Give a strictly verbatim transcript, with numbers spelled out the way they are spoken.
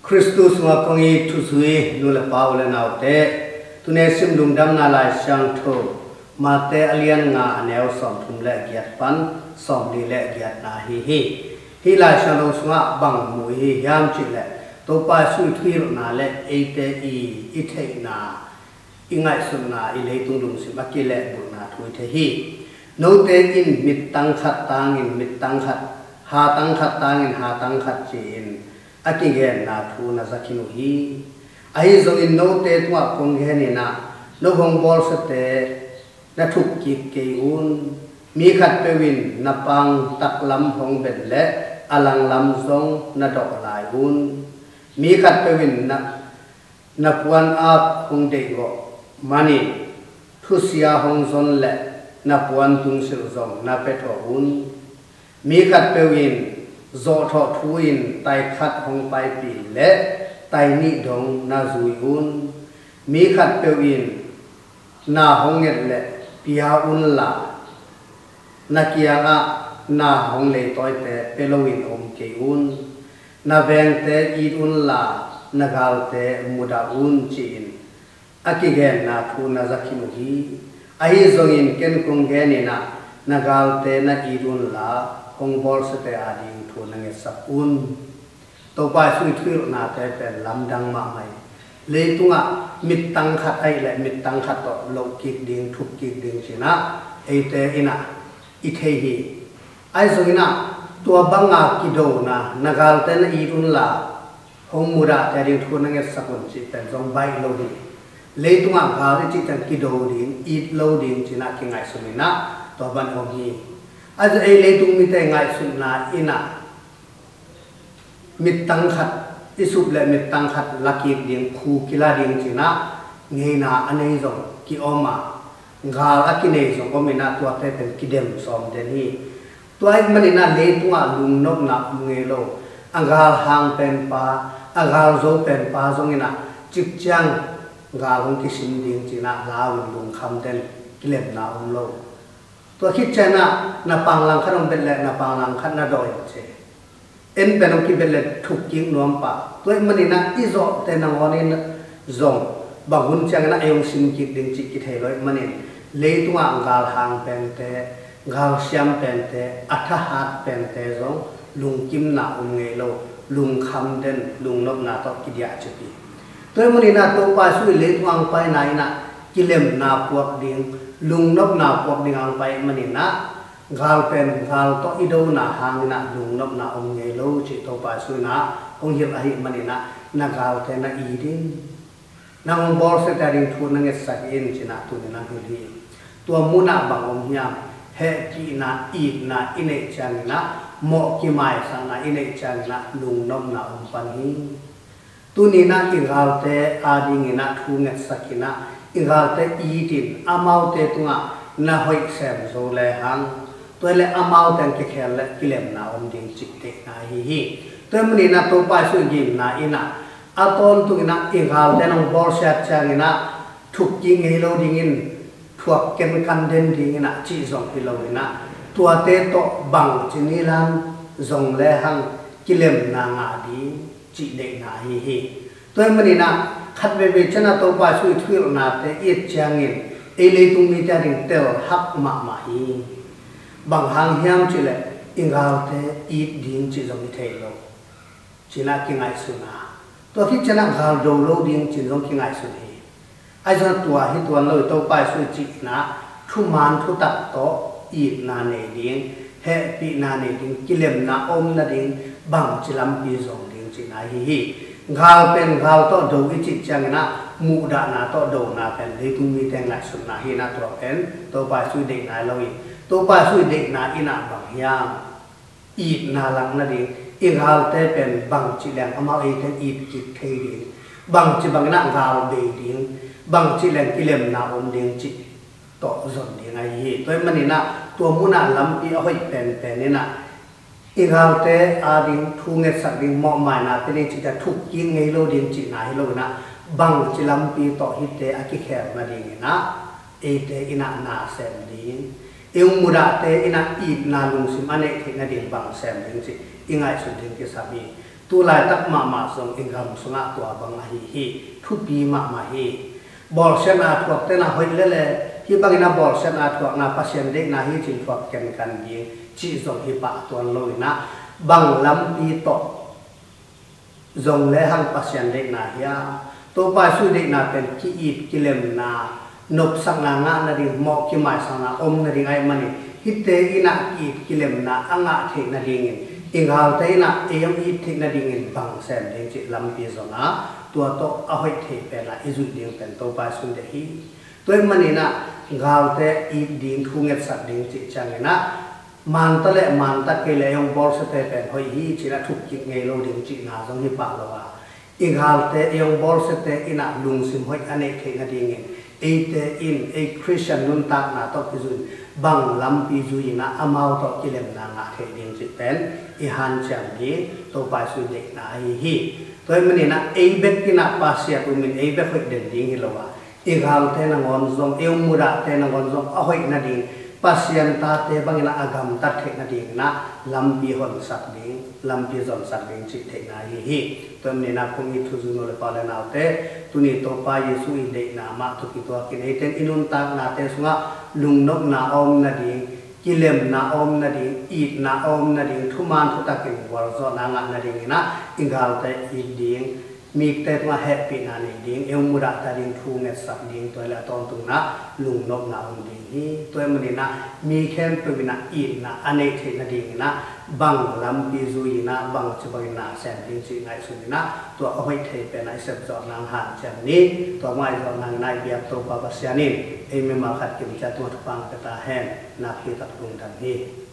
Khristu sungah kong it thuzui nu le pa, u le naute, tuni sim Lungdamna Lai Siangtho Mate a lian nga, a neu sawmthum le giat pan sawmli le giatna hi hi. Hih Lai Siangtho sungah bang mu i hi hiam cih leh, Topa Jesuh i thuhilhna le eite i, i theihna, i ngaihsutna, i leitung lungsim a kilehbulhna thu i thei hi. Note in mittang khat tangin mittang khat, hatang khat tangin hatang khat ci-in a kigenna thu na za khin uh hi. Ahi zongin note tungah kong genin ah, no hong bawlsiate na thuk kik kei un. Mi khatpeuh in na pang taklam hong bet leh a langlam zong na dawh lai un. Mi khatpeuh in na, na puan aap hong deihgawh manin thusia hong zon leh na puan tungsilh zong na pia thawh un. Mi khatpeuh in zawhthawh thu-in tai khat hong paipih leh tai nih dong na zui un. Mi khatpeuh in na hong nget leh pia unla, na kiangah na hong leitawite pia loin om kei un. Na vengte it unla, na galte mudah un, ci-in a kigenna thu na za khin uh hi. Ahi zongin ken kong genin ah, na galte na it unla, hong bawlsiate ading thu na ngetsak un. Topa Jesuh i thuhilhnate pen lamdang mahmah hi. Leitungah mittang khat ahih leh mittang khat tawh loh kik ding, thuk kik ding ci-in ah eite in ah i thei hi. Ahi zongin ah tua banga kidona, na galte na it unla, hong mudahte ading thu na ngetsak un cih pen zong baih lo hi. Leitungah gal i cih ciang kido ding, it lo ding ci-in ah kingaihsun in ah tua bang om hi. Ahi zong ei leitung mite ngaihsutna in ah mittang khat i sup leh mittang khat la kik ding, phu kila ding ci-in ah ngeina a nei zong kiom a, gal a kinei zong om in ah tuate pen kidem sawm den hi. Tua ahih manin ah leitungah lungnopna om ngei lo. A gal hang penpa, a gal zo penpa zong in ah cik ciang gal hong kisim ding ci-in ah lau in lungkham den, kilemna om lo. Tua khit ciangin ah na pang langkhat hong bet leh na pang langkhat na dawh in ci. En pen hong kibet leh thuk kik nuam pah. Tua ahih manin ah i zawhte nangawn in zong bang hun ciangin ah ei hong sim kik ding cih kithei lo ahih manin, leitungah gal hang pente, gal siam pente, a thahat pente zong lungkimna om ngei lo, lungkham den, lungnopna tawh kidiah cip hi. Tua ahih manin ah Topa Jesuh i leitung hong paina in ah kilemna puak ding, lungnopna puak ding hong pai ahih manin ah, gal pen gal tawh i dona hangin ah lungnopna om ngei lo cih Topa Jesuh in ah hong hilh ahih manin ah, na galte na it in, nang hong bawlsiate ading thu na ngetsak in ci-in ah tuni-in hong hilh hi. Tua munah bang om hiam? Hehpihna, itna i neih ciangin ah, mawh kimaisakna i neih ciangin ah lungnopna om pan hi. Tuni-in ah i galte adingin ah thu ngetsak in ah, i galte it in, amaute tungah na hoih sem zo lehang, tua leh amaute hong kikhel leh kilemna om ding cih deihna ahi hi. Tua ahih manin ah Topa Jesuh i gimna in ah, a tawntungin ah i galte nong bawlsiat ciangin ah thuk kik ngei lo dingin, thuak kenkan den dingin ah cih zong hi lo in ah, tuate tawh bangci nilam zong lehang kilemna ngah ding cih deihna ahi hi. Tua ahih manin ah khat veivei ciangin ah Topa Jesuh i thuhilhnate i et ciangin ei leitung mite ading telhak mahmah hi. Bang hang hiam cih leh i galte it ding cih zong i thei lo ci-in ah kingaihsun a, tua khit ciangin ah gal do lo ding ci-in zong kingaihsun hi. Ahi zongin tua hi tuan lo hi. Topa Jesuh i cihna thuman thutak tawh itna nei ding, hehpihna nei ding, kilemna om nading bangci lampi zong ding cihna ahi hi. Gal pen gal tawh do i cih ciangin ah muhdahna tawh dona pen leitung mite ngaihsutna hi in ah tua pen Topa Jesuh i deihna hi lo hi. Topa Jesuh i deihna in ah bang hiam? Itna lak nading, i galte pen bangci leng amau eite it kik thei ding, bangci bangin ah gal bei ding, bangci leng kilemna om ding cih tawh zon ding ahi hi. Tua ahih manin ah tua munah lampi a hoih penpen in ah i galte ading thu ngetsak ding, mawhmaina pia ding cihte thuk kik ngei lo ding cihna hi lo in ah, bangci lampi tawh hihte a kikhel nadingin ah eite in ah na sem ding, i hong mudahte in ah itna lungsim a neih theih nading bang sem ding cih i ngaihsut ding kisam hi. Tu laitak mahmah zong i gam sungah tua bang ahi hi. Thupi mahmah hi. Bawlsiatna a thuak tena hoih lele, hih bangin a bawlsiatna a thuakna Pasian deihna hi cin thuak kenkan ding cih zong hi pah tuan lo inah, bang lampi tawh zong le hang Pasian deihna hi a, Topa Jesuh deihna pen ki-it kilemna, nopsakna ngah nading, mawh kimaisakna om nading ahih manin, hihte inah ki-it kilemna a ngah theih nadingin, i galte inah ei hong it theih nadingin bang sem ding cih lampi zong a, tua tawh a hoih thei pen a i zuih ding pen Topa Jesuh deih hi. Tua ahih maninah galte it ding, thu ngetsak ding cih cianginah, manta le manta kei le ei hong bawlsiate pen hoih hi cinah thuk kik ngei lo ding cihna zong hi pah lo a, i galte ei hong bawlsiate inah lungsim hoih a neih theih nadingin, eite in ei Khristian nuntakna tawh kizui-in bang lampi zui inah amau tawh kilemna ngah theih ding cih pen i hanciam ding, Topa Jesuh deihna ahi hi. Tua ahih maninah ei bek inah pasiat umin ei bek hoih den ding hi lo a, i galte nangawn zong, i hong mudahte nangawn zong a hoih nading, Pasian tate bangin a gamtat theih nadinginah lampi honsak ding, lampi zonsak ding cih theihna ahi hi. Tua ahih maninah kong it thuzui nu le pa le naute, tuni Topa Jesuh i deihna mah tawh kituakin eite in i nuntaknate sungah lungnopna a om nading, kilemna a om nading, itna a om nading, thuman thutakin gualzawhna ngah nadinginah i galte it ding, mite tungah hehpihna nei ding, ei hong mudahte ading thu ngetsak ding, tua hi leh a tawntungna lungnopna om ding hi. Tua ahih maninah mi khempeuh inah itna a neih theih nadinginah bang lampi zui inah bangci bangin na sem ding cih ngaihsun inah, tua a hoih thei penah i sepzawh nang hanciam ni. Tua mah i zawh nanginah i biak Topa Pasian in ei mimal khat kimciat tungah thupha ngah pia ta hen. Nakpi tak lungdam hi.